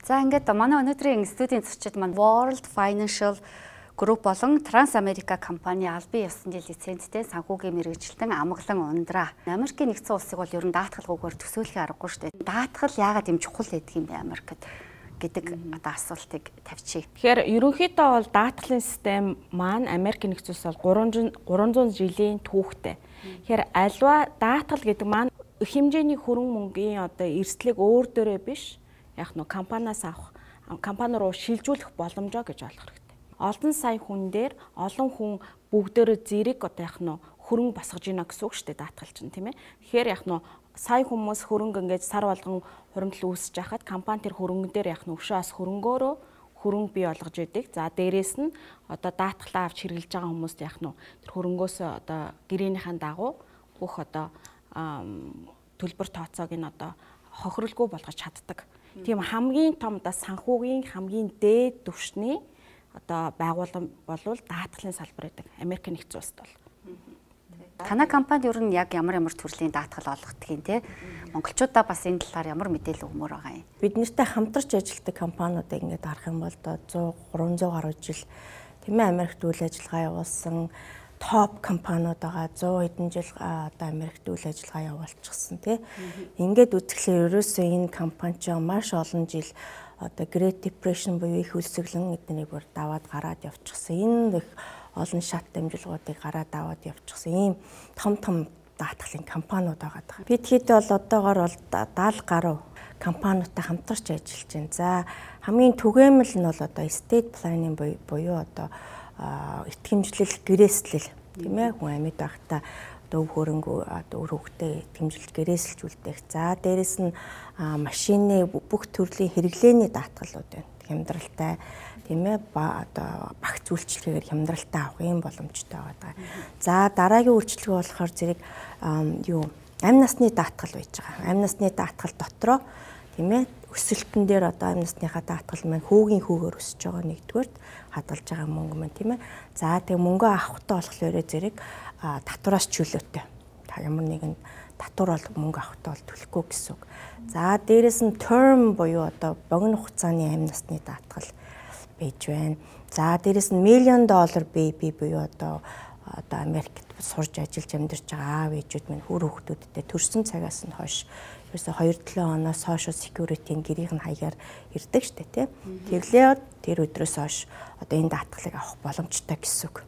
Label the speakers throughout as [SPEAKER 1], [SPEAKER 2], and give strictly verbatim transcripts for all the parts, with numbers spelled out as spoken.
[SPEAKER 1] За ингээд манай өнөөдрийн студийн зочид маань World Financial Group болон Trans America компани албан ёсны лицензтэй санхүүгийн мэргэжилтэн Амгалан Ундраа. Америкийн нэгдсэн улсыг бол ер нь даатгалгүйгээр төсөөлөхий аргагүй шүү дээ. Даатгал яагаад юм чухал байдаг юм бэ Америкт гэдэг одоо асуултыг тавьчих.
[SPEAKER 2] Тэгэхээр ерөнхийдөө бол даатгалын систем маань Америкийн нэгдсэн улс бол гурван зуун жилийн түүхтэй. Тэгэхээр альва даатгал гэдэг маань их хэмжээний хөрөнгө мөнгөний одоо эрсдлийг өөр дөрөө биш яг нь компаниас авах, компани руу шилжүүлэх боломжоо гэж ойлгох хэрэгтэй. Олон сая хүн дээр олон хүн бүгдөө зэрэг одоо яг нь хөрөнгө босгож ийна гэсэн үг шүү дээ даатгал чинь тийм ээ. Тэгэхээр яг нь сая хүмүүс хөрөнгө ингээд сар болгон хуримтлал үүсэж хахад компани тэр хөрөнгө дээр яг нь өшөөс хөрөнгөөрөө хөрөнгө бий болгож идэг. За дээрэс нь одоо даатгалаа авч хэрэглэж байгаа хүмүүст яг нь тэр хөрөнгөөс одоо гэрээнийхэн дагуу бүх одоо төлбөр тооцоог нь одоо хохиролгүй болгож чаддаг. Тийм хамгийн том да санхүүгийн хамгийн дээд түвшний одоо байгууллага болвол даатгалын салбар гэдэг. Америкийн нэгдсэн улсад бол.
[SPEAKER 1] Танай компанид ер нь яг ямар ямар төрлийн даатгал олгодог юм те? Монголчуудаа бас энэ талаар ямар мэдээлэл өгмөр байгаа юм?
[SPEAKER 3] Бид нартай хамтарч ажилладаг компаниудыг ингээд харах юм бол одоо гурван зуун гаруй жил тийм ээ Америкт үйл ажиллагаа явуулсан топ компаниуд байгаа зуун хэдэн жил одоо Америкт үйл ажиллагаа явуулчихсан тий. Ингээд үзэхлээр ерөөсөө энэ компани ч маш олон жил одоо Great Depression буюу их хөлсөглөн эднийг бүр даваад гараад явчихсан. Энэ их олон шат дамжуулгуудыг гараад даваад явчихсан. Ийм том том даатгалын компаниуд байгаа. Бид хэд бол одоогоор бол даал гаруй компаниудтай хамтарч ажиллаж байна. За хамгийн түгээмэл нь бол одоо estate planning буюу одоо итгэмжлэл гэрээслэл тийм ээ хүн амьд байхдаа одоо өв хөрөнгө одоо өр хөвгтэй итгэмжилж гэрээсэлж үлдээх. За дээрэс нь машины бүх төрлийн хэрэглээний даатгалууд байна. Хямдралтай тийм ээ ба одоо багц үйлчлэгээр хямдралтай авах юм боломжтой байгаа. За дараагийн үйлчлэгээ болохоор зэрэг юу амь насны даатгал байж байгаа. Амь насны даатгал дотроо тийм ээ өсөлтөн дээр одоо амь насныхаа даатгал маань хүүгийн хүүгээр өсөж байгаа нэгдүгээрт хадгалж байгаа мөнгө маань тийм ээ. За тэгээ мөнгө авахтаа болохоор зэрэг татвараас чөлөөтэй. Та ямар нэгэн татвар бол мөнгө авахтаа бол төлөхгүй гэсэн үг. За дээрэс нь term буюу одоо богино хугацааны амь насны даатгал байж байна. За дээрэс нь million dollar baby буюу одоо одоо Америкт сурж ажиллаж амьдарч байгаа аав ээжүүд минь хөр хүүхдүүдтэй төрсэн цагаас нь хойш ерөөсө хоёр долоо оноос хойш security-ийн гэрийнх нь хаягаар ирдэг штэ тий. Тэглээ тэр өдрөөс хойш одоо энэ даатгалыг авах боломжтой гэсэн үг.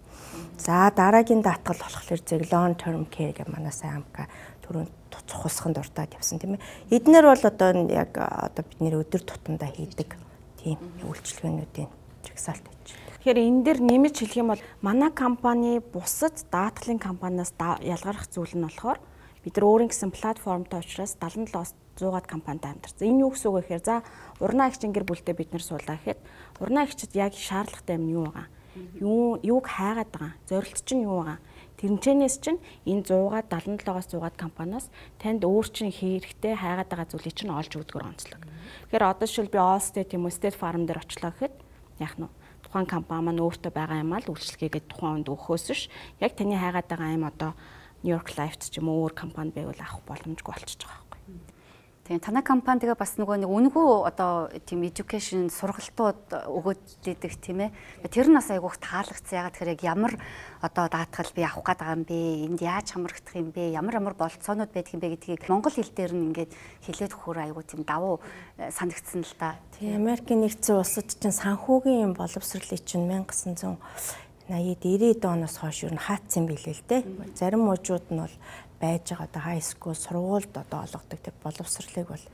[SPEAKER 3] За дараагийн даатгал болохоор зэрэг long term care гэх манай сайн амка түрүүн цухалсахын дуртад явсан тийм ээ. Эднэр бол одоо яг одоо бидний өдөр тутамдаа хийдэг тийм үйлчилгээнүүдийн жагсаалт байж.
[SPEAKER 2] Тэгэхээр энэ дээр нэмж хэлэх юм бол манай компани бусад даатгалын компаниас ялгарх зүйл нь болохоор бид нар өөрийн гэсэн платформтой учраас далан долоос зуугаад компанитай хамтарсан. Энэ юу гэсэн үг вэ гэхээр за урнаа агчийн гэр бүлтэй бид нар суулаа гэхэд урнаа агчид яг шаардлагатай юм юу байгаа? Юу юуг хайгаад байгаа? Зорилт чинь юу байгаа? Тэрнчэнээс чинь энэ зуугаад далан долоогоос зуугаад компаниас танд өөр чинь хэрэгтэй хайгаад байгаа зүйлийг чинь олж өгдөгөр онцлог. Тэгэхээр одоо шил би Allstate юм уу State Farm дээр очлоо гэхэд яах нь тухайн компани маань өөртөө байгаа юм аа л үйлчлэгээгээд тухайн хүнд өгөхөөс ш яг таны хайгаад байгаа юм одоо New York Life ч юм уу өөр компани байвал авах боломжгүй болчихж байгаа байхгүй.
[SPEAKER 1] Тийм танай компани тэгээ бас нөгөө нэг үнгүү одоо тийм education сургалтууд өгөөд идэг тийм ээ. Тэр нь бас айгүйх таалагдсан. Ягаад тэгэхээр яг ямар одоо даатгал би авах гээд байгаа юм бэ? Энд яаж хамрагдах юм бэ? Ямар ямар болцоонууд байдаг юм бэ гэдгийг монгол хэл дээр нь ингээд хэлээд өгөхөр айгүй тийм давуу санагдсан л та.
[SPEAKER 3] Тийм Америкийн нэгдсэн улсад чинь санхүүгийн боловсролыг чинь 천ь девятьсот ninety оноос хойш юу н хаацсан билээ л дээ. Зарим мужууд нь бол байж байгаа одоо high school сургуульд одоо олгодог тэр боловсролыг бол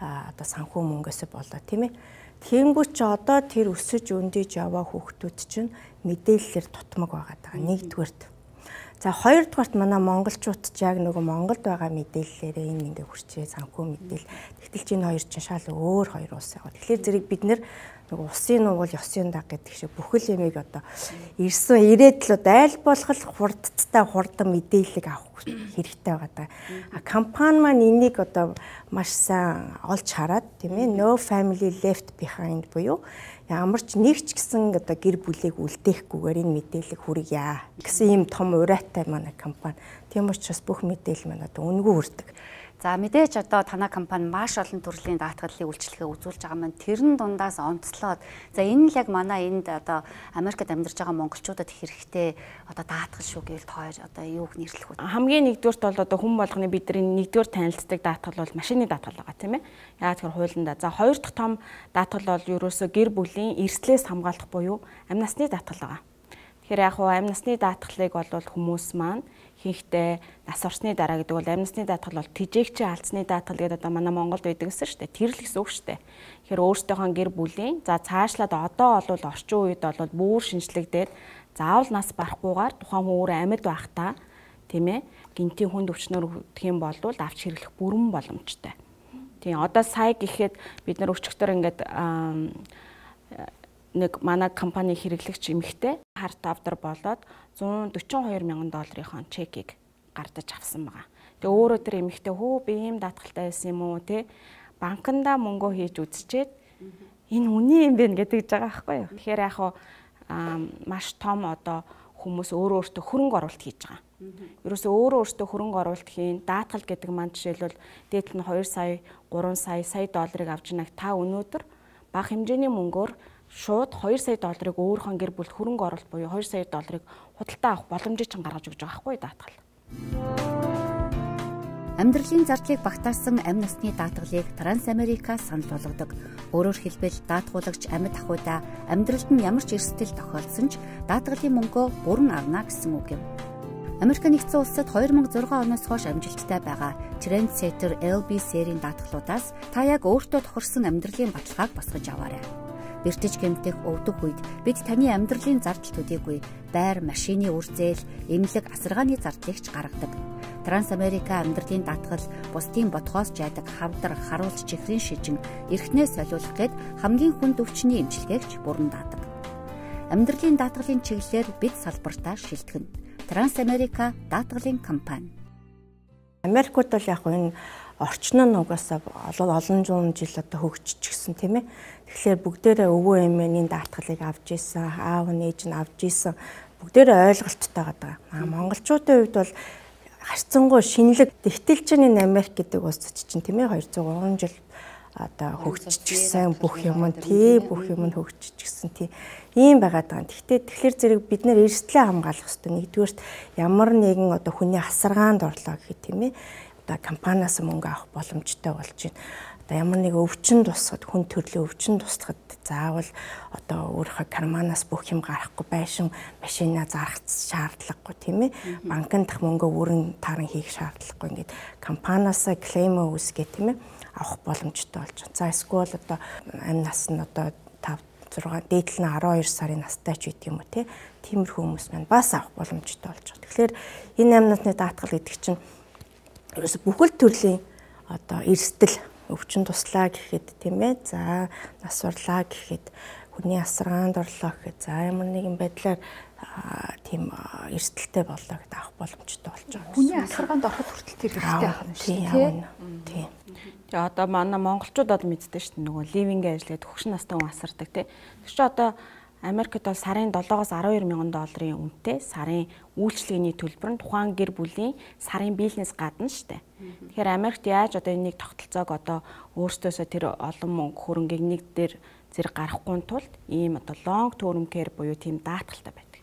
[SPEAKER 3] одоо санхүү мөнгөөсөө болоо тийм ээ. Тэгэнгүүт ч одоо тэр өсөж өндөж яваа хүүхдүүд чинь мэдээлэлээр тутмаг байгаа даа. Нэгдүгээрт. За хоёрдугаарт манай монголчууд ч яг нөгөө Монголд байгаа мэдээллээрээ энэ ингээ хүрчээ санхүү мэдээлэл. Тэгтэл чинь хоёр чинь шал өөр хоёр улс яг. Тэгэхээр зэрэг бид нэр нөгөө усын нугал ёсын даг гэдэг шиг бүхэл ямиг одоо ирсэн ирээдлүүд аль болох хурдтай хурдан мэдээлэл авах хэрэгтэй байгаа даа. А компани маань энийг одоо маш сайн олж хараад тийм ээ no family left behind буюу ямар ч нэг ч гэсэн одоо гэр бүлийг үлдээхгүйгээр энэ мэдээлэл хүргье гэсэн ийм том урайтай манай компани. Тийм учраас бүх мэдээлэл маань одоо үнэгүй хүрдэг.
[SPEAKER 1] За мэдээж одоо танай компани маш олон төрлийн даатгалын үйлчилгээ үзүүлж байгаа маань тэрэн дундаас онцлоод за энэ л яг манай энд одоо Америкт амьдарч байгаа монголчуудад хэрэгтэй одоо даатгал шүү гэвэл тоор одоо юуг нэрлэх вэ?
[SPEAKER 2] Хамгийн нэгдүгürt бол одоо хүн болгоны бидний нэгдүгээр танилцдаг даатгал бол машины даатгал байгаа тийм ээ. Яагаад гэхээр хуулиндаа. За хоёр дахь том даатгал бол ерөөсөө гэр бүлийн эрслээс хамгаалах буюу амь насны даатгал байгаа. Тэгэхээр яг хуу амь насны даатгалыг бол хүмүүс маань хийхдээ нас орсны дараа гэдэг бол амь насны даатгал бол тэжээгчийн алдсны даатгал гэдэг одоо манай Монголд байдаг гэсэн шүү дээ. Тэр л гэсэн үг шүү дээ. Тэгэхээр өөртөөхөө гэр бүлийн за цаашлаад одоо бол орчин үед бол бүр шинжлэгдээд заавал нас барахгүйгээр тухайн хүн өөрөө амьд байхдаа тийм ээ гинтийн хүнд өвчнөр өвдөх юм бол авч хэрэглэх бүрэн боломжтой. Тийм одоо сая гэхэд бид нар өчигдөр ингээд нэг манай компани хэрэглэгч эмэгтэй харт авдар болоод зуун дөрвөн хоёр мянган долларын чекийг гардаж авсан байгаа. Тэгээ өөрөө тэр эмэгтэй хөө би ийм даатгалтай байсан юм уу те банкнда мөнгө хийж үзчихэд энэ үний юм бэ гэдэг байгаа байхгүй юу. Тэгэхээр яг хуу маш том одоо хүмүүс өөрөө өөртөө хөрөнгө оруулалт хийж байгаа. Ерөөсөө өөрөө өөртөө хөрөнгө оруулалт хийн даатгал гэдэг маань жишээлбэл дээд нь хоёр сая, гурван сая, сая долларыг авч байгааг та өнөөдөр бага хэмжээний мөнгөөр шууд хоёр сая долларыг өөрийнхөө гэр бүлд хөрөнгө оруулалт буюу хоёр сая долларыг худалдаа авах боломжийг ч гаргаж өгч байгаа байхгүй даатгал.
[SPEAKER 1] Амьдралын зардлыг багтаасан амь насны даатгалыг Трансамерика санал болгодог. Өөрөөр хэлбэл даатгуулагч амьд ахуйдаа амьдралд нь ямар ч эрсдэл тохиолдсон ч даатгалын мөнгөө бүрэн авна гэсэн үг юм. Америк нэгдсэн улсад хоёр мянга зургаан оноос хойш амжилттай байгаа Trendsetter эл би серийн даатгалуудаас та яг өөртөө тохирсон амьдралын баталгааг босгож аваарай. Бэртэж гэмтэх өвдөх үед бид таны амьдралын зардал төдийгүй байр, машины үр зээл, эмнэлэг, асаргааны зардлыг ч гаргадаг. Трансамерика амьдралын даатгал бусдын бодхоос жаадаг хавдар, харуулж чихрийн шижин, эрхнээ солиулах гэд хамгийн хүнд өвчний эмчилгээгч бүрэн даадаг. Амьдралын даатгалын чиглэлээр бид салбартаа шилтгэн. Трансамерика даатгалын компани.
[SPEAKER 3] Америкт бол яг энэ орчин нь угаасаа олон зуун жил одоо хөгжчихсэн тийм ээ. Тэгэхээр бүгдээрээ өвөө эмээний даатгалыг авч ийсэн, аав нээж нь авч ийсэн бүгдээрээ ойлголттой байгаа. Аа монголчуудын хувьд бол харьцангуй шинэлэг тэгтэлжний Америк гэдэг улс чинь тийм ээ хоёрдугаар гурван жил одоо хөгжчихсэн бүх юм нь тий бүх юм нь хөгжчихсэн тий ийм байгаад байгаа. Гэхдээ тэгэхээр зэрэг бид нэр эрсдлээ хамгаалах хэрэгтэй. Нэгдүгээрт ямар нэгэн одоо хүний асаргаанд орлоо гэх тийм ээ одоо компаниас мөнгө авах боломжтой болж байна. Одоо ямар нэг өвчин тусахад хүн төрлийн өвчин тусахад заавал одоо өөрийнхөө карманаас бүх юм гарахгүй байшин машинаа зарах шаардлагагүй тийм ээ. Банкнд дах мөнгө өөрийн таран хийх шаардлагагүй. Ингээд компаниасаа клейм үүсгэх тийм ээ авах боломжтой болж байна. За эсвэл одоо амь нас нь одоо тав зургаан дээдл нь арван хоёр сарын настай ч гэдэг юм уу тий. Тиймэрхүү хүмүүс маань бас авах боломжтой болж байгаа. Тэгэхээр энэ амь насны даатгал гэдэг чинь ерөөсө бүхэл төрлийн одоо эрсдэл өвчин туслаа гэхэд тийм ээ. За нас урлаа гэхэд хүний асаргаанд орлоо гэхэд за ямар нэгэн байдлаар тийм эрсдэлтэй боллоо гэдээ авах боломжтой болж байгаа.
[SPEAKER 4] Хүний асаргаанд ороход хүртэл тэр хэрэгтэй байх юм шиг тийм.
[SPEAKER 3] Тийм.
[SPEAKER 2] Тэгээ одоо манай монголчуудад мэддэг шүү дээ нөгөө ливингээ ажиллаад хөгшин настай хүн асардаг тий. Тэр чинь одоо Америкт бол сарын долоогоос арван хоёр мянган долларын үнэтэй сарын үйлчлэгээний төлбөр нь тухайн гэр бүлийн сарын бизнес гадна шүү дээ. Тэгэхээр Америкт яаж одоо энийг тогтолцоог одоо өөртөөсөө тэр олон мөнгө хөрөнгийг нэг дээр зэрэг гарахгүй тулд ийм одоо long term care буюу тийм даатгалтай байдаг.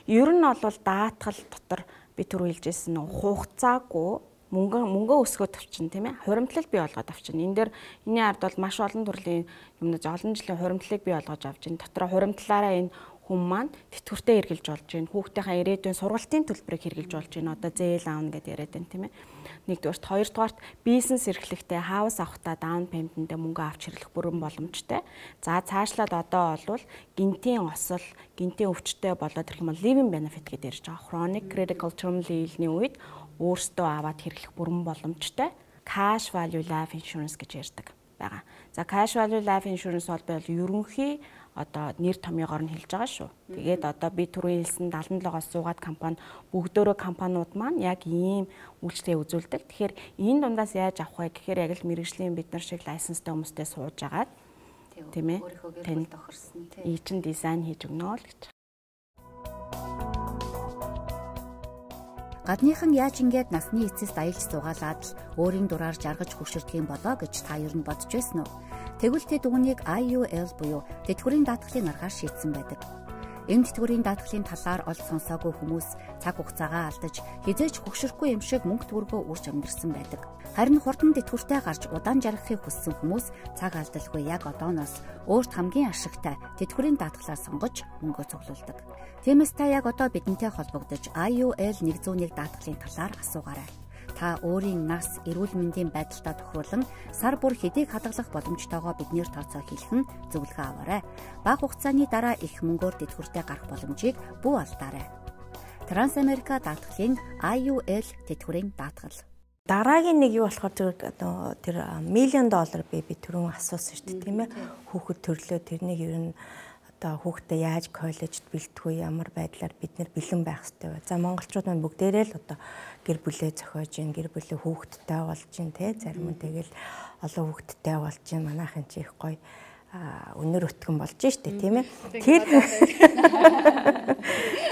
[SPEAKER 2] Ер нь бол даатгал дотор би түр хэлжсэн нэг хугацаагүй мөнгө мөнгө өсгөөд авчин тийм ээ хуримтлал бий болгоод авчин. Энэ дээр энэний ард бол маш олон төрлийн юмнууд олон жилийн хуримтлалыг бий болгож авч байна. Дотроо хуримтлаараа энэ хүн маань тэтгэвртээ хэрглэж болж байна. Хүүхдийнхээ ирээдүйн сургалтын төлбөрийг хэрглэж болж байна. Одоо зээл аавна гэдээ яриад байна тийм ээ. Нэгдүгээрт, хоёрдугаарт бизнес эрхлэхдээ хаус авахтаа даун пейментэндээ мөнгө авч хэрэглэх бүрэн боломжтой. За цаашлаад одоо бол гинтийн осол, гинтийн өвчтөй болоод ирэх юм бол living benefit гэдэг ярьж байгаа. Chronic critical terminal illness-ийн үед өөртөө аваад хэрэглэх бүрэн боломжтой cash value life insurance гэж ярьдаг байгаа. За cash value life insurance бол ерөнхий одоо нэр томьёогоор нь хэлж байгаа шүү. Тэгээд одоо би түрүү хэлсэн даална логоос суугаад компани бүгдөө компаниуд маань яг ийм үйлчлэгээ үзүүлдэг. Тэгэхээр энэ дундаас яаж авах вэ гэхээр яг л мэрэгжлийн бид нар шиг лайсенстай хүмүүстэй сууж агаад тийм ээ. Тань тохирсон тийм. Ий чин дизайн хийж өгнө л гэж.
[SPEAKER 1] Гадныхан яаж ингээд насны эцэст аялж суугаалаад л өөрийн дураар жаргаж хөшөрдөг юм болоо гэж та ер нь бодож байсан уу? Тэгвэл тэд үүнийг I U L буюу тэтгэврийн даатгалын аргаар шийдсэн байдаг. Энэ тэтгэврийн даатгалын талаар олж сонсоогүй хүмүүс цаг хугацаагаа алдаж хизээж хөгшөрөхгүй юм шиг мөнгө төгрөгөө үрж амьдэрсэн байдаг. Харин хурдан тэтгэвртэй гарч удаан жаргахыг хүссэн хүмүүс цаг алдалгүй яг одооноос өөрт хамгийн ашигтай тэтгэврийн даатгалаа сонгож мөнгөө цуглуулдаг. Тиймээс та яг одоо бидэнтэй холбогдож I U L нэг зуун нэг даатгалын талаар асуугаарай. Та өөрийн нас, эрүүл мэндийн байдалтай тохируулан сар бүр хэдийг хадгалах боломжтойгоо биднээр тооцоо хийлхэн зөвлөгөө аваарай. Бага хугацааны дараа их мөнгөөр тэтгэвртэй гарах боломжийг бүү алдаарай. Трансамерика даатгалын I U L тэтгэврийн даатгал.
[SPEAKER 3] Дараагийн нэг юу болохоор тэр тэр миллион доллар би би түрүүн асуусан шүү дээ, тийм ээ. Хүүхэд төрлөө тэрнийг ер нь одоо хүүхдээ яаж коллежид бэлтгэв, ямар байдлаар бид нэр бэлэн байх хэрэгтэй вэ? За монголчууд маань бүгдээрээ л одоо гэр бүлээ зохиож гин, гэр бүлээ хүүхэдтэй болж гин, тэ зарим нь тэгэл олон хүүхэдтэй болж гин, манайхын чи их гоё өнөр өтгөн болж штэ, тийм ээ.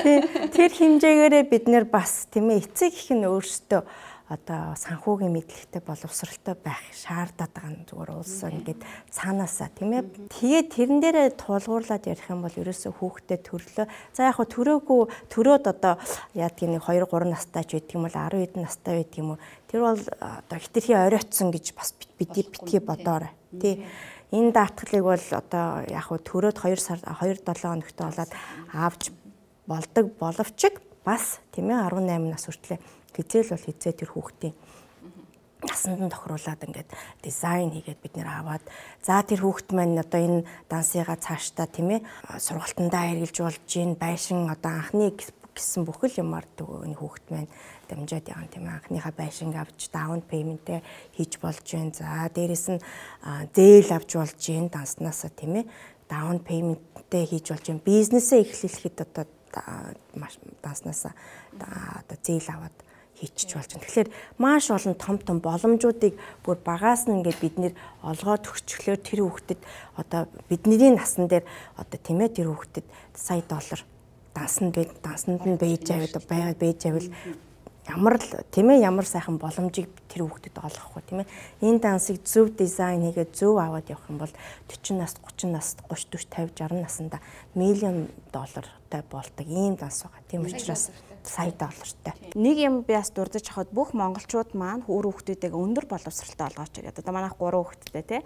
[SPEAKER 3] Тэр тэр хэмжээгээрээ бид нэр бас тийм ээ эцэг их нь өөрсдөө одоо санхүүгийн мэдлэгтэй боловсралтай байх шаардаад байгаа нь зүгээр уулсан ингээд цаанаасаа тийм ээ. Тэгээд тэрэн дээрээ тулгуурлаад ярих юм бол ерөөсөө хүүхдэд төрлөө. За яг хөө төрөөгүй төрөөд одоо яадгийн нэг хоёр гурван настай ч байдаг юм бол арав хэдэн настай байдаг юм уу. Тэр бол одоо хитрхи оройтсон гэж бас бидний битгий бодоорой. Тий. Энэ даатгалыг бол одоо яг хөө төрөөд хоёр сар хоёр долоо хоногтой болоод авч болдог боловч бас тийм ээ арван найман нас хүртлээр хизээл бол хизээ тэр хүүхдийн насанд нь тохируулаад ингээд дизайн хийгээд бид нэр аваад за тэр хүүхд маань одоо энэ дансыгаа цаашдаа тийм ээ сургалтандаа хэрэгжилж болж гин байшин одоо анхны гэсэн бүхэл юмар энэ хүүхд маань дамжаад явна тийм ээ анхныхаа байшинг авч даун пейментээ хийж болж гин за дээрэс нь зээл авч болж гин данснасаа тийм ээ даун пейментээ хийж болж гин бизнесээ эхлүүлэхэд одоо маш данснасаа одоо зээл аваад хийчих болж байна. Тэгэхээр маш олон том том боломжуудыг бүр багаас нь ингээд бид нэр олгоод өгчлөөр тэр хүүхдэд одоо бидний насан дээр одоо тийм ээ тэр хүүхдэд сая доллар дансанд бай дансанд нь бэж аваад байгаад бэж авал ямар л тийм ээ ямар сайхан боломжийг тэр хүүхдэд олгохгүй тийм ээ энэ дансыг зөв дизайн хийгээд зөв аваад явах юм бол forty нас thirty нас thirty forty fifty sixty наснда миллион доллартай болдог ийм данс байгаа. Тийм учраас сая доллартай.
[SPEAKER 2] Нэг юм би бас дурдж авахд бүх монголчууд маань өөр хүүхдүүдээ өндөр боловсралтай олгооч гэдэг. Одоо манайх гурван хүүхэдтэй тий.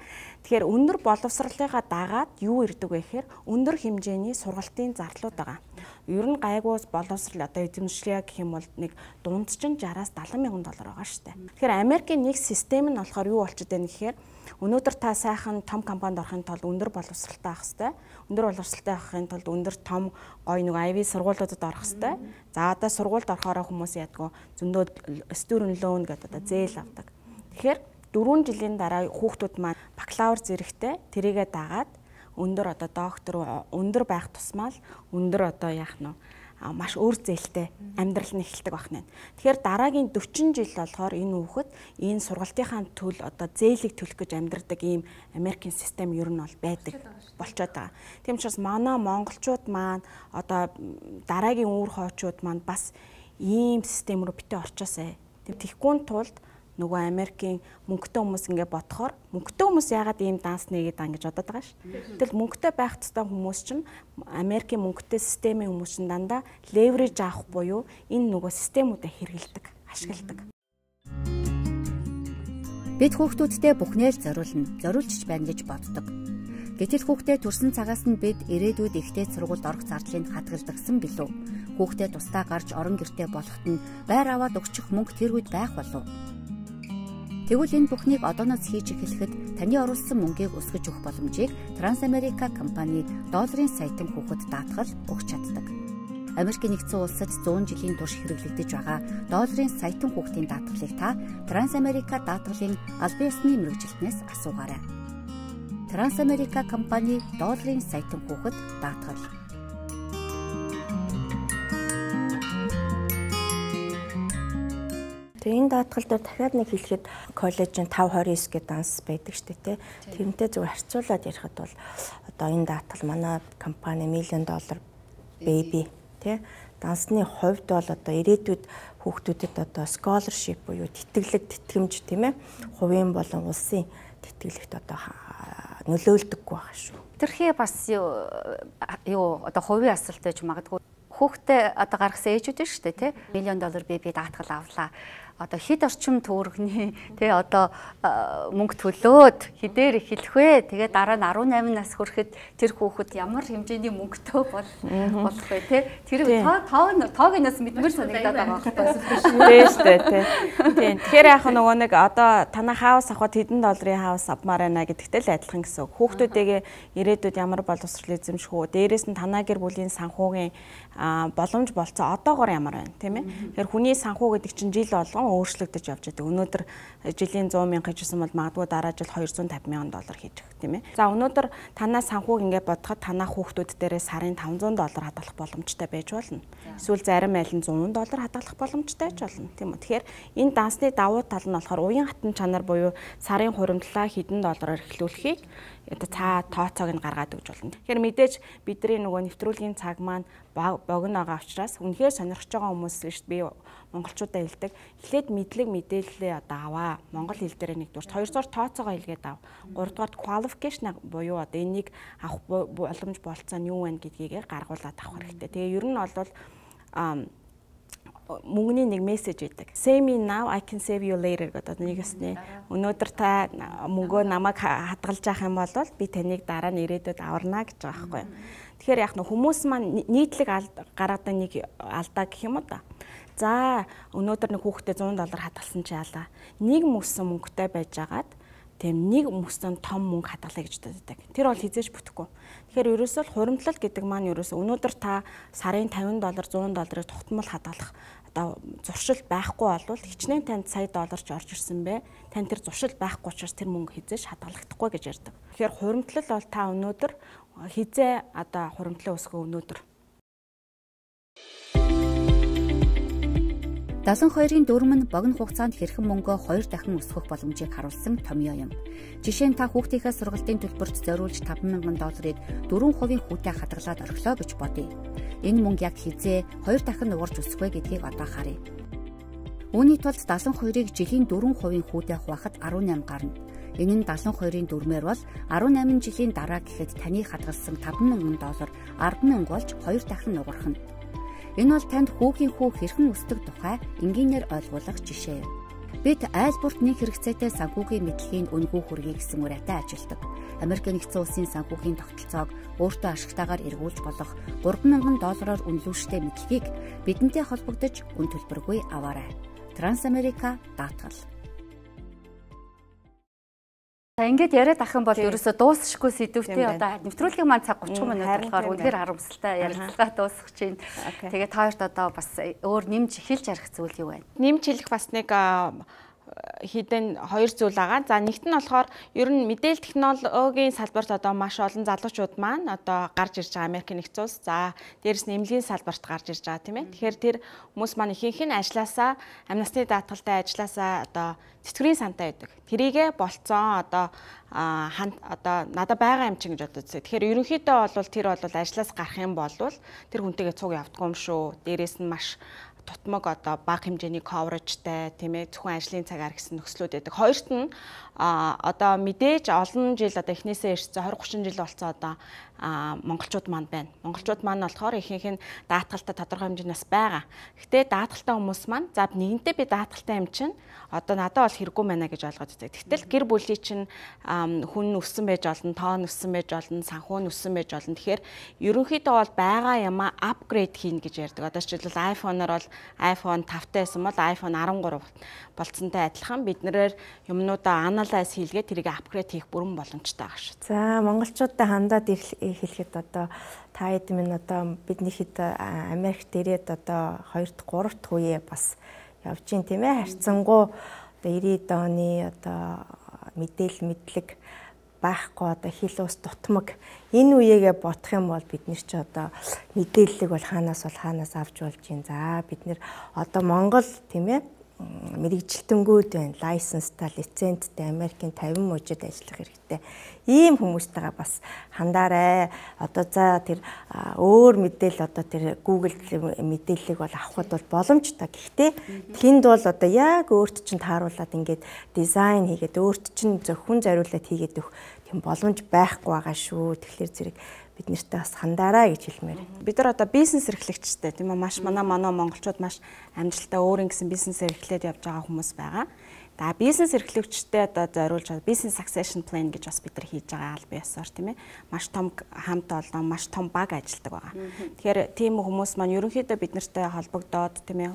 [SPEAKER 2] Тэгэхээр өндөр боловсралынхаа дагаад юу ирдэг вэ гэхээр өндөр хэмжээний сургалтын зарлууд байгаа. Ер нь гайгуус боловсрал одоо эзэмшлээ гэх юм бол нэг дундчин sixty-аас seventy мянган доллар байгаа шүү дээ. Тэгэхээр Америкийн нэг систем нь болохоор юу болчиход байна гэхээр өнөөдөр та сайхан том компанид орохын тулд өндөр боловсралтай авах хэрэгтэй. Өндөр боловсралтай авахын тулд өндөр том гоё нэг Ivy сургуулиудад орох хэрэгтэй. За одоо сургуульд орохоор хүмүүс яадаг зөндөө student loan гэдэг одоо зээл авдаг. Тэгэхээр дөрвөн жилийн дараа хүүхдүүд маань бакалавр зэрэгтэй тэрийгэ дагаад өндөр одоо доктор өндөр байх тусмаа л өндөр одоо яах нь маш өөр зээлтэй амьдрал нь эхэлдэг байна. Тэгэхээр дараагийн forty жил болохоор энэ хүүхэд энэ сургалтынхаа төл одоо зээлийг төлөх гэж амьдардаг ийм Америкийн систем ер нь бол байдаг болчиход байгаа. Тийм учраас манай монголчууд маань одоо дараагийн үүр хоочууд маань бас ийм систем рүү битээ орчоосай. Тэгэхгүй тулд нөгөө Америкийн мөнгөтэй хүмүүс ингэ бодохоор мөнгөтэй хүмүүс яагаад ийм данс нэгээд байгаа гэж бодоод байгаа шүү. Тэгэл мөнгөтэй байх ёстой хүмүүс чинь Америкийн мөнгөтэй системийн хүмүүс чинь дандаа леверэж авах буюу энэ нөгөө системүүдээ хэрэгэлдэг, ашигладаг.
[SPEAKER 1] Бид хүүхдүүдтэй бүхнээ л зориулна, зориулж байна гэж боддог. Гэтэл хүүхдээ төрсэн цагаас нь бид ирээдүйд ихтэй сургуульд орох зардлыг хадгалдагсан билүү? Хүүхдээ тусдаа гарч орон гэртээ болоход нь байр аваад өгчих мөнгө тэр үед байх болов? Тэгвэл энэ бүхнийг одооноос хийж эхлэхэд таны оруулсан мөнгийг өсгөж өгөх боломжийг Трансамерика компани долларын саятан хүүхэд даатгал өгч чаддаг. Америкийн нэгдсэн улсад one hundred жилийн турш хэрэглэгдэж байгаа долларын саятан хүүхдийн даатгалыг та Трансамерика даатгалын албан ёсны мэргэжилтнээс асуугаарай. Трансамерика компани долларын саятан хүүхэд даатгал.
[SPEAKER 3] Тэгээ энэ даатгал дээр дахиад нэг хэлэхэд коллежийн five twenty-nine гэдэг данс байдаг шүү дээ. Тэрнтэй зөв харьцуулаад ярихад бол одоо энэ даатгал манай компани миллион доллар baby тий дансны хувьд бол одоо ирээдүйд хүүхдүүдэд одоо scholarship буюу тэтгэлэг тэтгэмж тийм ээ хувийн болон улсын тэтгэлэгт одоо нөлөөлдөггүй байгаа шүү.
[SPEAKER 1] Тэрхий бас юу одоо хувийн асуулт байж магадгүй хүүхдээ одоо гаргасан ээжүүд нь шүү дээ тий. Миллион доллар би би даатгал авлаа. Одоо хэд орчим төгрөгийн тий одоо мөнгө төлөөд хэдээр эхэлэх вэ? Тэгээд дараа нь арван найман нас хүрэхэд тэр хүүхэд ямар хэмжээний мөнгөтэй бол болох вэ тий? Тэр тоо тоогоноос мэдмэр санагдаад байгаа байхгүй
[SPEAKER 2] тий шүү дээ тий. Тийм. Тэгэхээр яг нөгөө нэг одоо танаа хаус авахд хэдэн долларын хаус авмаар байна гэдэгтэй л адилхан гэсэн үг. Хүүхдүүдээгээ ирээдүйд ямар боловсрол эзэмших үү? Дээрээс нь танаа гэр бүлийн санхүүгийн боломж болцоо одоогоор ямар байна тийм ээ. Тэгэхээр хүний санхүү гэдэг чинь жил болгон өөрчлөгдөж явж байгаа. Өнөөдөр жилийн сто мянга хийжсэн бол магадгүй дараа жил двести пенсят мянган доллар хийж байгаа тийм ээ. За өнөөдөр танаа санхүүг ингээд бодоход танаа хүүхдүүд дээрээ сарын тавьсанд доллар хадгалах боломжтой байж болно. Эсвэл зарим айл нь сто доллар хадгалах боломжтой байж болно тийм үү. Тэгэхээр энэ дансны давуу тал нь болохоор уян хатан чанар буюу сарын хуримтлаа хэдэн доллараар эхлүүлэхийг одоо цаа тооцоог нь гаргаад өгч болно. Тэгэхээр мэдээж бидний нөгөө нэвтрүүлгийн цаг маань богино байгаа учраас үнэхээр сонирхож байгаа хүмүүс шүү дээ. Би монголчуудаа хэлдэг. Эхлээд мэдлэг мэдээлэлээ одоо аваа. Монгол хэл дээр нэгдүгээр, хоёрдугаар тооцоогоо илгээд ав. Гуравдугаар qualification буюу одоо энийг авах боломж болцоо нь юу вэ гэдгийг гаргуулад авах хэрэгтэй. Тэгээ ер нь бол мөнгөний нэг мессеж өгдөг. Save me now, I can save you later гэдэг нэг өсний. Өнөөдөр та мөнгөө намайг хадгалж авах юм бол би таныг дараа нь ирээдүйд аварна гэж байгаа байхгүй юу. Тэгэхээр яг нь хүмүүс маань нийтлэг гаргадаг нэг алдаа гэх юм уу та. За өнөөдөр нэг хүүхдээ сто доллар хадгалсан чи яалаа. Нэг мөсөн мөнгөтэй байжгаад тийм нэг мөсөн том мөнгө хадгалаа гэж боддог. Тэр бол хизээж бүтэхгүй. Тэгэхээр ерөөсөө хуримтлал гэдэг маань ерөөсөө өнөөдөр та сарын тавин доллар сто долларыг тогтмол хадгалах одоо зуршил байхгүй болвол хичнээн танд сая долларч орж ирсэн бэ. Танд тэр зуршил байхгүй учраас тэр мөнгө хизээж хадгалагдахгүй гэж ярьдаг. Тэгэхээр хуримтлал бол та өнөөдөр хизээ одоо хуримтлал өсгөө өнөөдөр
[SPEAKER 1] далайн хоёрын дүрм нь богино хугацаанд хэрхэн мөнгөө хоёр дахин өсгөх боломжийг харуулсан томьёо юм. Жишээ нь та хүүхдийнхээ сургалтын төлбөрт зориулж таван мянган долларыг дөрвөн хувийн хүүтэй хадгалаад орхилоо гэж бодъё. Энэ мөнгө яг хизээ хоёр дахин нугарч өсөх вэ гэдгийг одоо харъя. Үүний тулд далайн хоёрыг жилийн дөрвөн хувийн хүүтэй хуваахад арван найман гарна. Энэ нь далайн хоёрын дүрмээр бол арван найман жилийн дараа гэхэд таны хадгалсан таван мянган доллар арван мянга болж хоёр дахин нугарах нь. Энэ бол танд хүүгийн хүү хэрхэн өсдөг тухай энгийнээр ойлгуулах жишээ. Бид айл бүрт нэг хэрэгцээтэй санхүүгийн мэдлэгийн үнэгүй хүргэе гэсэн ураатай ажилдаг. Америк нэгдсэн улсын санхүүгийн тогтолцоог өөртөө ашигтайгаар эргүүлж болох гурван мянган доллараар үнэлүүлжтэй мэдлэгийг бидэнтэй холбогдож үн төлбөргүй аваарай. Трансамерика даатгал. Ингээд яриад ах юм бол ерөөсөө дуусахгүй сэдвүүтэй одоо нэвтрүүлгийн маань цаг гучин минут болохоор үнэхээр харамсалтай ярилцлага дуусах чинь. Тэгээд та хоёрт одоо бас өөр нэмж эхэлж ярих зүйл юу байна?
[SPEAKER 2] Нэмж хэлэх бас нэг хідэн хоёр зүйл байгаа. За нэгт нь болохоор ер нь мэдээлэл технологийн салбарт одоо маш олон залуучууд маань одоо гарч ирж байгаа Америк нэгдсэн улс. За дээрэс нь эмнэлгийн салбарт гарч ирж байгаа тийм ээ. Тэгэхээр тэр хүмүүс маань ихэнх нь ажилласаа амнистийн даатгалтай ажилласаа одоо тэтгэврийн сантай байдаг. Тэрийгэ болцсон одоо хан одоо надад байгаа юм чинь гэж бодож байна. Тэгэхээр ерөнхийдөө бол тэр бол ажлаас гарах юм бол тэр хүнтэйгээ цуг явдггүй юм шүү. Дээрээс нь маш тутмаг одоо бага хэмжээний coverage-тай тийм ээ зөвхөн ажлын цагаар гэсэн нөхцлүүд байдаг. Хоёрт нь одоо мэдээж олон жил одоо эхнээсээ ирсэн двадцать тридцать жил болцсон одоо монголчууд маань байна. Монголчууд маань болохоор ихэнх нь даатгалтай тодорхой хэмжээнээс байгаа. Гэтэ даатгалтай хүмүүс маань за нэгэнтээ би даатгалтай юм чинь одоо надад бол хэрэггүй байна гэж ойлгоод байдаг. Гэтэл гэр бүлийн чинь хүн өссөн байж олон, тоон өссөн байж олон, санхүү өссөн байж олон. Тэгэхээр ерөнхийдөө бол байгаа юмаа апгрейд хийнэ гэж ярьдаг. Одоо жишээлбэл iPhone-оор бол iPhone тавтай байсан бол iPhone арван гурав болцсонтой адилхан бид нэрээр юмнуудаа анализ хийлгээд тэрийг апгрейд хийх бүрэн боломжтой байгаа шүү.
[SPEAKER 3] За монголчуудаа хандаад хэлэхэд одоо та хэд минь одоо бидний хэд Америкт ирээд одоо хоёр дахь гурав дахь үе бас явж гин тийм ээ харьцангуй одоо девяностые оны одоо мэдээлэл мэдлэг байхгүй одоо хил ус дутмаг энэ үеэгээ бодох юм бол бид нэр чи одоо мэдээллийг бол хаанаас бол хаанаас авч болж гин. За бид нэр одоо Монгол тийм ээ мэрэгжилтэнгүүд байна, лайсенстай, лицензтэй Америкийн тавин мужид ажиллах хэрэгтэй. Ийм хүмүүстэйгээ бас хандаарай. Одоо за тэр өөр мэдээлэл одоо тэр Google мэдээллийг бол авахд бол боломжтой. Гэхдээ тэнд бол одоо яг өөрт чинь тааруулаад ингээд дизайн хийгээд өөрт чинь зөвхөн зориулаад хийгээд өгөх тийм боломж байхгүй байгаа шүү. Тэгэхээр зэрэг бид нартай бас хандаарай гэж хэлмээр.
[SPEAKER 2] Бид нар одоо бизнес эрхлэгчтэй тийм үү маш манай манай монголчууд маш амжилттай өөрийн гэсэн бизнес эрхлээд явж байгаа хүмүүс байгаа. За бизнес эрхлэгчтэй одоо зориулж байгаа бизнес succession plan гэж бас бид нар хийж байгаа аль бие ёсоор тийм ээ. Маш том хамт олон маш том баг ажилладаг байгаа. Тэгэхээр тийм хүмүүс маань ерөнхийдөө бид нартай холбогдоод тийм ээ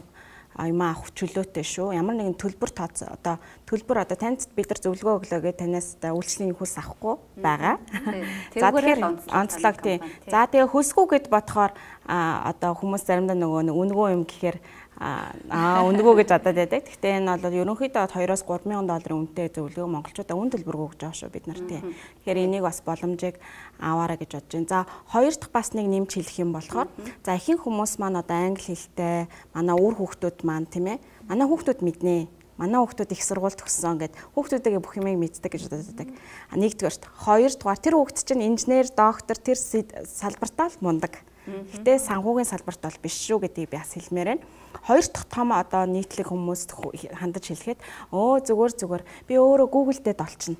[SPEAKER 2] аймаа авах чөлөөтэй шүү. Ямар нэгэн төлбөр тооц одоо төлбөр одоо танд бид нар зөвлөгөө өглөө гэж танаас үйлчлэгийн хөлс авахгүй байгаа. За тэгэхээр онцлог тийм. За тэгээ хөлсгүйгээд бодохоор одоо хүмүүс заримдаа нөгөө үнгөө юм гэхээр аа үнгөө гэж бодоод байдаг. Гэхдээ энэ бол ерөнхийдөө двоёроос гурван мянган долларын үнэтэй зөвлөгөө монголчуудаа үн төлбөр өгж байгаа шүү бид нар тийм. Тэгэхээр энийг бас боломжийг аваарай гэж бодож байна. За хоёр дахь бас нэг нэмж хэлэх юм болохоор за ихэнх хүмүүс маань одоо англи хэлтэй манай үр хүүхдүүд маань тийм ээ. Манай хүүхдүүд мэднэ. Манай хүүхдүүд их сургууль төгссөн гэд хүүхдүүдээ бүх юмыг мэддэг гэж боддог. Нэгдүгээрт, хоёрдугаар тэр хүүхд чинь инженер, доктор тэр салбартаа л мундаг. Гэтэ санхүүгийн салбарт бол биш шүү гэдгийг би бас хэлмээр байна. Хоёр дахь том одоо нийтлэг хүмүүст хандаж хэлэхэд өө зүгээр зүгээр би өөрөө Google дээр долчихно.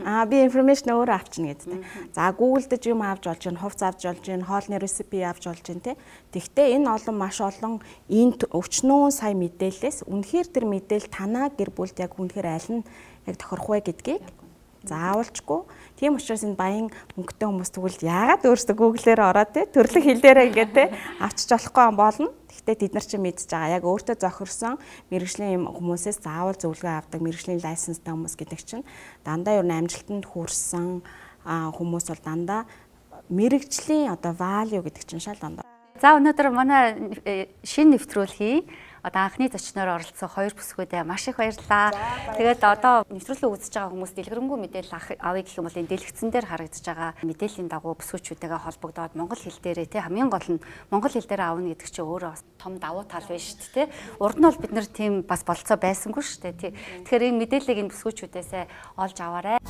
[SPEAKER 2] Аа би информашн өөрөө авчна гэдэг. За Google дээр юм авч болж байна, хувц авч болж байна, хоолны рецепи авч болж байна тий. Тэгвэл энэ олон маш олон энэ өвчнөө сая мэдээлэлээс үнэхээр тэр мэдээлэл танаа гэр бүлд яг үнэхээр аль нь яг тохирох вэ гэдгийг заавалчгүй. Тийм учраас энэ баян мөнгөтэй хүмүүс тэгвэл яагаад өөрсдөө Google-ээр ороод тий төрлөх хэлээрээ ингээд тий авчиж болохгүй болно. Гэхдээ тэд нар ч мэдж байгаа. Яг өөртөө зохирсон мэрэгжлийн юм хүмүүсээс заавал зөвлөгөө авдаг мэрэгжлийн лайсенстай хүмүүс гэдэг чинь дандаа ер нь амжилтанд хүрсэн хүмүүс бол дандаа мэрэгжлийн одоо value гэдэг чинь шал дандаа.
[SPEAKER 1] За өнөөдөр манай шинэ нэвтрүүлгийг одоо анхны зочноор оролцсон хоёр бүсгүүдээ маш их баярлалаа. Тэгээд одоо нэвтрүүлэг үзэж байгаа хүмүүс дэлгэрэнгүй мэдээлэл авъя гэх юм бол энэ дэлгэцэн дээр харагдаж байгаа мэдээллийн дагуу бүсгүүчүүдтэйгээ холбогдоод монгол хэл дээрээ тий хамгийн гол нь монгол хэл дээр аавна гэдэг чинь өөрөө бас том давуу тал байна шүү дээ тий. Урд нь бол бид нар тийм бас болцоо байсангүй шүү дээ тий. Тэгэхээр энэ мэдээллийг энэ бүсгүүчүүдээс олж аваарай.